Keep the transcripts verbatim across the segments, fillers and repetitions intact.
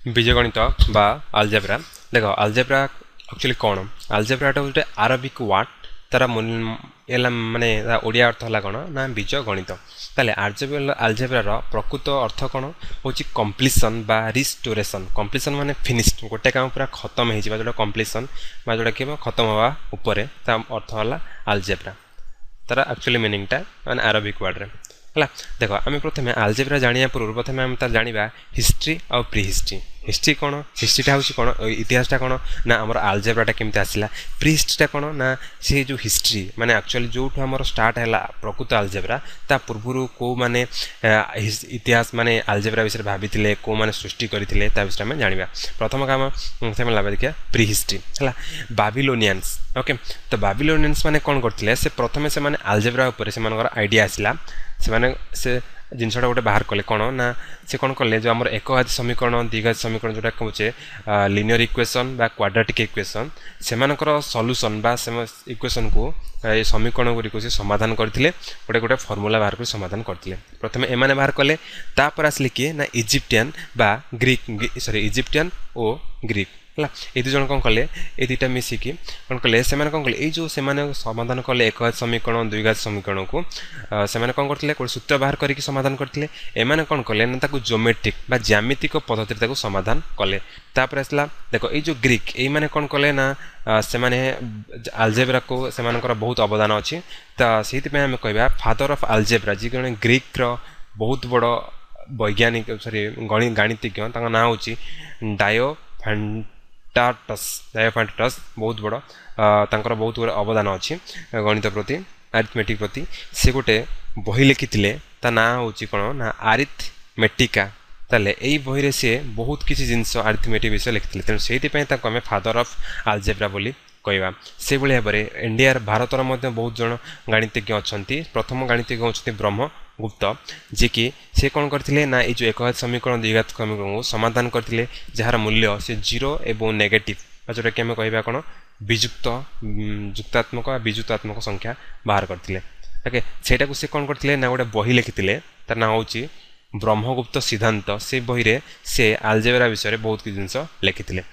ବୀଜଗଣିତ ବା ଆଲଜେବ୍ରା। ଦେଖ, algebra actually କ'ଣ? ଆଲଜେବ୍ରାଟା ଗୋଟେ ଆରବିକ୍ ୱାର୍ଡ଼। ତାର ହେଲା ମାନେ ଓଡ଼ିଆ ଅର୍ଥ ହେଲା କ'ଣ ନା ବୀଜଗଣିତ। ତାହେଲେ ଆଲଜେବ୍ରାର ପ୍ରକୃତ ଅର୍ଥ କ'ଣ ହେଉଛି? କମ୍ପ୍ଲିସନ୍ ବା ରିଷ୍ଟୋରେସନ୍। କମ୍ପ୍ଲିସନ୍ ମାନେ ଫିନିଶ୍ଡ, ଗୋଟେ କାମ ପୁରା ଖତମ ହେଇଯିବା ଯେଉଁଟା କମ୍ପ୍ଲିସନ୍ ବା ଯେଉଁଟା କି ଖତମ ହେବା ଉପରେ, ତା ଅର୍ଥ ହେଲା ଆଲଜେବ୍ରା। ତାର ଆକ୍ଚୁଆଲି ମିନିଂଟା ମାନେ ଆରବିକ୍ ୱାର୍ଡ଼ରେ ହେଲା। ଦେଖ, ଆମେ ପ୍ରଥମେ ଆଲଜେବ୍ରା ଜାଣିବା ପୂର୍ବରୁ ପ୍ରଥମେ ଆମେ ତାର ଜାଣିବା ହିଷ୍ଟ୍ରି ଆଉ ପ୍ରି ହିଷ୍ଟ୍ରି। ହିଷ୍ଟ୍ରି କ'ଣ? ହିଷ୍ଟ୍ରିଟା ହେଉଛି କ'ଣ? ଇତିହାସଟା କ'ଣ ନା ଆମର ଆଲଜେବ୍ରାଟା କେମିତି ଆସିଲା। ପ୍ରି ହିଷ୍ଟ୍ରିଟା କ'ଣ ନା ସେ ଯେଉଁ ହିଷ୍ଟ୍ରି ମାନେ ଆକ୍ଚୁଆଲି ଯେଉଁଠୁ ଆମର ଷ୍ଟାର୍ଟ ହେଲା ପ୍ରକୃତ ଆଲଜେବ୍ରା, ତା ପୂର୍ବରୁ କେଉଁମାନେ ଇତିହାସ ମାନେ ଆଲଜେବ୍ରା ବିଷୟରେ ଭାବିଥିଲେ, କେଉଁମାନେ ସୃଷ୍ଟି କରିଥିଲେ, ତା ବିଷୟରେ ଆମେ ଜାଣିବା। ପ୍ରଥମ କାମ ପ୍ରଥମେ ଦେଖିବା ପ୍ରି ହିଷ୍ଟ୍ରି ହେଲା ବାବିଲୋନିଆନ୍ସ। ଓକେ, ତ ବାବିଲୋନିଆନ୍ସ ମାନେ କ'ଣ କରିଥିଲେ? ସେ ପ୍ରଥମେ ସେମାନେ ଆଲଜେବ୍ରା ଉପରେ ସେମାନଙ୍କର ଆଇଡ଼ିଆ ଆସିଲା। ସେମାନେ ସେ ଜିନିଷଟା ଗୋଟେ ବାହାର କଲେ। କ'ଣ ନା ସେ କ'ଣ କଲେ, ଯେଉଁ ଆମର ଏକଘାତୀ ସମୀକରଣ, ଦ୍ୱିଘାତୀ ସମୀକରଣ, ଯେଉଁଟା କହୁଛେ ଲିନିୟର ଇକ୍ୱେସନ୍ ବା କ୍ୱାଡ୍ରାଟିକ୍ ଇକ୍ୱେସନ୍, ସେମାନଙ୍କର ସଲ୍ୟୁସନ୍ ବା ସେ ଇକ୍ୱେସନ୍କୁ, ଏ ସମୀକରଣ ଗୁଡ଼ିକୁ ସେ ସମାଧାନ କରିଥିଲେ। ଗୋଟେ ଗୋଟେ ଫର୍ମୁଲା ବାହାର କରି ସମାଧାନ କରିଥିଲେ। ପ୍ରଥମେ ଏମାନେ ବାହାର କଲେ। ତାପରେ ଆସିଲେ କିଏ ନା ଇଜିପ୍ଟିଆନ୍ ବା ଗ୍ରୀକ୍, ସରି, ଇଜିପ୍ଟିଆନ୍ ଓ ଗ୍ରୀକ୍ ହେଲା। ଏ ଦୁଇ ଜଣ କ'ଣ କଲେ? ଏ ଦୁଇଟା ମିଶିକି କ'ଣ କଲେ? ସେମାନେ କ'ଣ କଲେ, ଏଇ ଯେଉଁ ସେମାନେ ସମାଧାନ କଲେ ଏକଘାତ ସମୀକରଣ, ଦ୍ୱିଘାତ ସମୀକରଣକୁ, ସେମାନେ କ'ଣ କରିଥିଲେ? ଗୋଟେ ସୂତ୍ର ବାହାର କରିକି ସମାଧାନ କରିଥିଲେ। ଏମାନେ କ'ଣ କଲେ ନା ତାକୁ ଜିଓମେଟ୍ରିକ୍ ବା ଜ୍ୟାମିତିକ ପଦ୍ଧତିରେ ତାକୁ ସମାଧାନ କଲେ। ତାପରେ ଆସିଲା ଦେଖ, ଏଇ ଯେଉଁ ଗ୍ରୀକ୍, ଏଇମାନେ କ'ଣ କଲେ ନା ସେମାନେ ଆଲଜେବ୍ରାକୁ ସେମାନଙ୍କର ବହୁତ ଅବଦାନ ଅଛି। ତ ସେଇଥିପାଇଁ ଆମେ କହିବା ଫାଦର ଅଫ୍ ଆଲଜେବ୍ରା ଯିଏ ଜଣେ ଗ୍ରୀକ୍ର ବହୁତ ବଡ଼ ବୈଜ୍ଞାନିକ, ସରି, ଗଣି ଗାଣିତିଜ୍ଞ, ତାଙ୍କ ନାଁ ହେଉଛି ଡାୟୋ ଫାଣ୍ଟାଟସ୍। ଡାୟୋଫାଣ୍ଟାଟସ୍ ବହୁତ ବଡ଼, ତାଙ୍କର ବହୁତ ଗୁଡ଼େ ଅବଦାନ ଅଛି ଗଣିତ ପ୍ରତି, ଆରିଥମେଟିକ୍ ପ୍ରତି। ସେ ଗୋଟେ ବହି ଲେଖିଥିଲେ, ତା ନାଁ ହେଉଛି କ'ଣ ନା ଆରିଥମେଟିକା। ତାହେଲେ ଏଇ ବହିରେ ସିଏ ବହୁତ କିଛି ଜିନିଷ ଆରିଥମେଟିକ୍ ବିଷୟ ଲେଖିଥିଲେ। ତେଣୁ ସେଇଥିପାଇଁ ତାଙ୍କୁ ଆମେ ଫାଦର ଅଫ୍ ଆଲଜେବ୍ରା ବୋଲି କହିବା। ସେଇଭଳି ଭାବରେ ଇଣ୍ଡିଆର, ଭାରତର ମଧ୍ୟ ବହୁତ ଜଣ ଗାଣିତିଜ୍ଞ ଅଛନ୍ତି। ପ୍ରଥମ ଗାଣିତିଜ୍ଞ ହେଉଛନ୍ତି ବ୍ରହ୍ମଗୁପ୍ତ, ଯିଏକି ସେ କ'ଣ କରିଥିଲେ ନା ଏଇ ଯେଉଁ ଏକଘାତ ସମୀକରଣ, ଦ୍ୱିଘାତ ସମୀକରଣକୁ ସମାଧାନ କରିଥିଲେ, ଯାହାର ମୂଲ୍ୟ ସେ ଜିରୋ ଏବଂ ନେଗେଟିଭ୍ ବା ଯେଉଁଟାକି ଆମେ କହିବା କ'ଣ ବିଯୁକ୍ତ, ଯୁକ୍ତାତ୍ମକ ବା ବିଯୁକ୍ତାତ୍ମକ ସଂଖ୍ୟା ବାହାର କରିଥିଲେ। ଓକେ, ସେଇଟାକୁ ସେ କ'ଣ କରିଥିଲେ ନା ଗୋଟେ ବହି ଲେଖିଥିଲେ, ତାର ନାଁ ହେଉଛି ବ୍ରହ୍ମଗୁପ୍ତ ସିଦ୍ଧାନ୍ତ। ସେ ବହିରେ ସେ ଆଲଜେବ୍ରା ବିଷୟରେ ବହୁତ କିଛି ଜିନିଷ ଲେଖିଥିଲେ।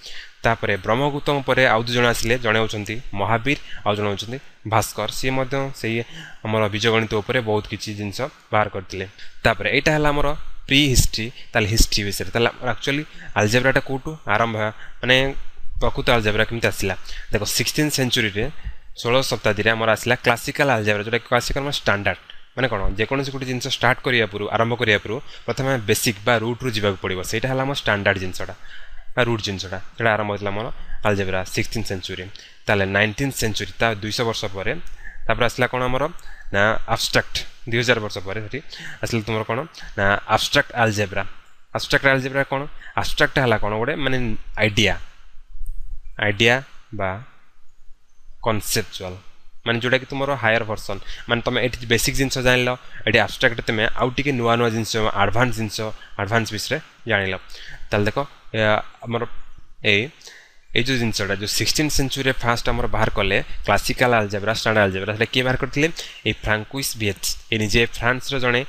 ତାପରେ ବ୍ରହ୍ମଗୁପ୍ତଙ୍କ ପରେ ଆଉ ଦୁଇ ଜଣ ଆସିଲେ। ଜଣେ ହେଉଛନ୍ତି ମହାବୀର, ଆଉ ଜଣେ ହେଉଛନ୍ତି ଭାସ୍କର। ସିଏ ମଧ୍ୟ ସେଇ ଆମର ବୀଜଗଣିତ ଉପରେ ବହୁତ କିଛି ଜିନିଷ ବାହାର କରିଥିଲେ। ତାପରେ ଏଇଟା ହେଲା ଆମର ପ୍ରି ହିଷ୍ଟ୍ରି। ତାହେଲେ ହିଷ୍ଟ୍ରି ବିଷୟରେ, ତାହେଲେ ଆକ୍ଚୁଆଲି ଆଲଜେବ୍ରାଟା କେଉଁଠୁ ଆରମ୍ଭ, ମାନେ ପ୍ରକୃତ ଆଲଜେବ୍ରା କେମିତି ଆସିଲା? ଦେଖ, ସିକ୍ସଟିନ୍ ସେଞ୍ଚୁରୀରେ, ଷୋହଳ ଶତାବ୍ଦୀରେ ଆମର ଆସିଲା କ୍ଲାସିକାଲ ଆଲଜେବ୍ରା, ଯେଉଁଟା କ୍ଲାସିକାଲ ମାନେ ଷ୍ଟାଣ୍ଡାର୍ଡ଼। ମାନେ କ'ଣ? ଯେକୌଣସି ଗୋଟେ ଜିନିଷ ଷ୍ଟାର୍ଟ କରିବା ପୂର୍ବରୁ, ଆରମ୍ଭ କରିବା ପୂର୍ବରୁ ପ୍ରଥମେ ବେସିକ୍ ବା ରୁଟ୍ରୁ ଯିବାକୁ ପଡ଼ିବ। ସେଇଟା ହେଲା ଆମ ଷ୍ଟାଣ୍ଡାର୍ଡ଼ ଜିନିଷଟା ବା ରୁଟ୍ ଜିନିଷଟା। ସେଇଟା ଆରମ୍ଭ ହୋଇଥିଲା ଆମର ଆଲଜେବ୍ରା ସିକ୍ସଟିନ୍ ସେଞ୍ଚୁରୀ। ତାହେଲେ ନାଇନଟିନ୍ ସେଞ୍ଚୁରୀ, ତା ଦୁଇଶହ ବର୍ଷ ପରେ ତାପରେ ଆସିଲା କ'ଣ ଆମର ନା ଆବଷ୍ଟ୍ରାକ୍ଟ। ଦୁଇ ହଜାର ବର୍ଷ ପରେ ସେଠି ଆସିଲା ତୁମର କ'ଣ ନା ଆବଷ୍ଟ୍ରାକ୍ଟ ଆଲଜେବ୍ରା। ଆବଷ୍ଟ୍ରାକ୍ଟ ଆଲଜେବ୍ରା କ'ଣ? ଆବଷ୍ଟ୍ରାକ୍ଟ ହେଲା କ'ଣ ଗୋଟେ ମାନେ ଆଇଡ଼ିଆ, ଆଇଡ଼ିଆ ବା କନସେପଚୁଆଲ, ମାନେ ଯେଉଁଟାକି ତୁମର ହାୟର ଭର୍ସନ୍। ମାନେ ତୁମେ ଏଠି ବେସିକ୍ ଜିନିଷ ଜାଣିଲ, ଏଠି ଆବଷ୍ଟ୍ରାକ୍ଟ ତୁମେ ଆଉ ଟିକେ ନୂଆ ନୂଆ ଜିନିଷ, ଆଡ଼ଭାନ୍ସ ଜିନିଷ, ଆଡ଼ଭାନ୍ସ ବିଷୟରେ ଜାଣିଲ। ତାହେଲେ ଦେଖ, ଆମର ଏଇ ଏଇ ଯେଉଁ ଜିନିଷଟା ଯେଉଁ ସିକ୍ସଟିନ୍ ସେଞ୍ଚୁରୀରେ ଫାଷ୍ଟ ଆମର ବାହାର କଲେ କ୍ଲାସିକାଲ ଆଲଜେବ୍ରା, ଷ୍ଟାଣ୍ଡାର୍ଡ ଆଲଜେବ୍ରା, ସେଟା କିଏ ବାହାର କରିଥିଲେ? ଏଇ ଫ୍ରାଙ୍କୁଇସ୍ ଭିଏଚ୍। ଏ ନିଜେ ଫ୍ରାନ୍ସର ଜଣେ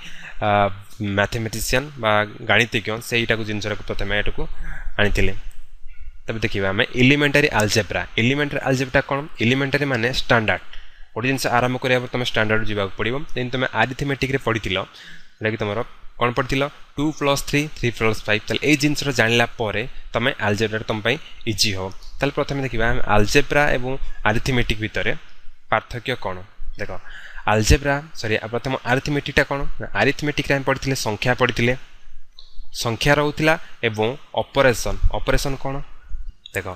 ମ୍ୟାଥମେଟିସିଆନ୍ ବା ଗାଣିତିଜ୍ଞ, ସେଇଟାକୁ ଜିନିଷଟାକୁ ପ୍ରଥମେ ଏଟାକୁ ଆଣିଥିଲେ। ତେବେ ଦେଖିବା ଆମେ ଏଲିମେଣ୍ଟାରୀ ଆଲଜେବ୍ରା। ଏଲିମେଣ୍ଟାରୀ ଆଲଜେବ୍ରା କ'ଣ? ଏଲିମେଣ୍ଟାରୀ ମାନେ ଷ୍ଟାଣ୍ଡାର୍ଡ। ଗୋଟେ ଜିନିଷ ଆରମ୍ଭ କରିବା ପରେ ତୁମେ ଷ୍ଟାଣ୍ଡାର୍ଡ ଯିବାକୁ ପଡ଼ିବ। ଯେମିତି ତୁମେ ଆରିଥମେଟିକ୍ରେ ପଢ଼ିଥିଲ, ଯେଉଁଟାକି ତୁମର କ'ଣ ପଢ଼ିଥିଲ? Two plus three, three plus five. ତାହେଲେ ଏଇ ଜିନିଷଟା ଜାଣିଲା ପରେ ତୁମେ ଆଲଜେବ୍ରାଟା ତୁମ ପାଇଁ ଇଜି ହେବ। ତାହେଲେ ପ୍ରଥମେ ଦେଖିବା ଆମେ ଆଲଜେବ୍ରା ଏବଂ ଆରିଥମେଟିକ୍ ଭିତରେ ପାର୍ଥକ୍ୟ କ'ଣ। ଦେଖ, ଆଲଜେବ୍ରା, ସରି, ପ୍ରଥମ ଆରିଥମେଟିକ୍ଟା କ'ଣ? ଆରିଥମେଟିକ୍ରେ ଆମେ ପଢ଼ିଥିଲେ ସଂଖ୍ୟା, ପଢ଼ିଥିଲେ ସଂଖ୍ୟା ରହୁଥିଲା ଏବଂ ଅପରେସନ୍। ଅପରେସନ୍ କ'ଣ? ଦେଖ,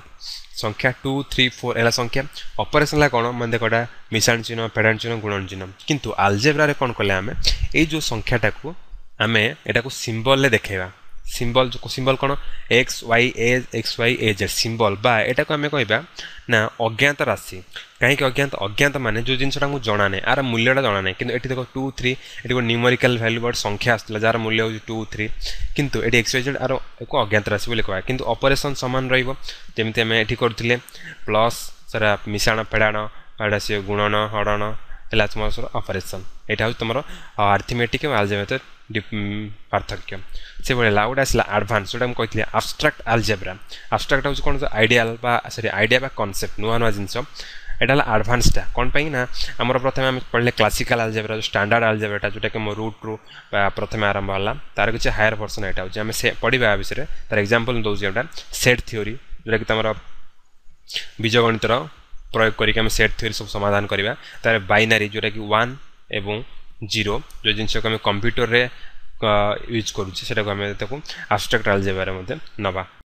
ସଂଖ୍ୟା ଟୁ ଥ୍ରୀ ଫୋର୍ ହେଲା ସଂଖ୍ୟା। ଅପରେସନ୍ ହେଲା କ'ଣ? ମାନେ ଦେଖ, ଏଇଟା ମିଶାଣ ଚିହ୍ନ, ଫେଡ଼ାଣ ଚିହ୍ନ, ଗୁଣନ ଚିହ୍ନ। କିନ୍ତୁ ଆଲଜେବ୍ରାରେ କ'ଣ କଲେ ଆମେ? ଏଇ ଯେଉଁ ସଂଖ୍ୟାଟାକୁ ଆମେ ଏଟାକୁ ସିମ୍ବଲରେ ଦେଖେଇବା। ସିମ୍ବଲ, ସିମ୍ବଲ କ'ଣ? X Y A, X Y A Z symbol. ବା ଏଟାକୁ ଆମେ କହିବା ନା ଅଜ୍ଞାତ ରାଶି। କାହିଁକି ଅଜ୍ଞାତ? ଅଜ୍ଞାତ ମାନେ ଯେଉଁ ଜିନିଷଟା ଆମକୁ ଜଣା ନାହିଁ, ଆର ମୂଲ୍ୟଟା ଜଣା ନାହିଁ। କିନ୍ତୁ ଏଠି ଦେଖ, ଟୁ ଥ୍ରୀ, ଏଠି ଗୋଟେ ନ୍ୟୁମେରିକାଲ ଭ୍ୟାଲୁ ବା ସଂଖ୍ୟା ଆସୁଥିଲା ଯାହାର ମୂଲ୍ୟ ହେଉଛି ଟୁ ଥ୍ରୀ। କିନ୍ତୁ ଏଠି ଏକ୍ସ ୱାଇ ଜେଡ୍, ଆର ଏକ ଅଜ୍ଞାତ ରାଶି ବୋଲି କହିବା। କିନ୍ତୁ ଅପରେସନ୍ ସମାନ ରହିବ, ଯେମିତି ଆମେ ଏଠି କରୁଥିଲେ ପ୍ଲସ୍ ସେଟା ମିଶାଣ, ଫେଡ଼ାଣ, ଏଇଟା ସିଏ ଗୁଣନ, ହରଣ ହେଲା ତୁମର ଅପରେସନ୍। ଏଇଟା ହେଉଛି ତୁମର ଆରିଥମେଟିକ୍ ଏବଂ ଆଲଜେବ୍ରା ପାର୍ଥକ୍ୟ। ସେଭଳି ହେଲା, ଆଉ ଗୋଟେ ଆସିଲା ଆଡ଼ଭାନ୍ସ, ଯେଉଁଟା ମୁଁ କହିଥିଲି ଆବଷ୍ଟ୍ରାକ୍ଟ ଆଲଜେବ୍ରା। ଆବଷ୍ଟ୍ରାକ୍ଟ ହେଉଛି କ'ଣ? ଆଇଡ଼ିଆଲ ବା ସରି, ଆଇଡ଼ିଆ ବା କନସେପ୍ଟ, ନୂଆ ନୂଆ ଜିନିଷ। ଏଇଟା ହେଲା ଆଡ଼ଭାନ୍ସଟା। କ'ଣ ପାଇଁ ନା ଆମର ପ୍ରଥମେ ଆମେ ପଢ଼ିଲେ କ୍ଲାସିକାଲ ଆଲଜେବ୍ରା, ଯେଉଁ ଷ୍ଟାଣ୍ଡାର୍ଡ଼ ଆଲଜେବ୍ରାଟା, ଯେଉଁଟାକି ମୋ ରୁଟ୍ରୁ ପ୍ରଥମେ ଆରମ୍ଭ ହେଲା, ତାର କିଛି ହାୟର ଭର୍ସନ୍ ଏଇଟା ହେଉଛି। ଆମେ ସେ ପଢ଼ିବା ଆ ବିଷୟରେ। ତାର ଏକ୍ଜାମ୍ପଲ୍ ଦେଉଛି ଏଇଟା ସେଟ୍ ଥିଓରି, ଯେଉଁଟାକି ତୁମର ବୀଜଗଣିତର ପ୍ରୟୋଗ କରିକି ଆମେ ସେଟ୍ ଥିଓରି ସବୁ ସମାଧାନ କରିବା। ତାର ବାଇନାରୀ, ଯେଉଁଟାକି ୱାନ୍ ଏବଂ ଜିରୋ, ଯେଉଁ ଜିନିଷକୁ ଆମେ କମ୍ପ୍ୟୁଟରରେ ୟୁଜ୍ କରୁଛେ, ସେଟାକୁ ଆମେ ତାକୁ ଆବଷ୍ଟ୍ରାକ୍ଟ ଆଲଜେବ୍ରାରେ ମଧ୍ୟ ନେବା।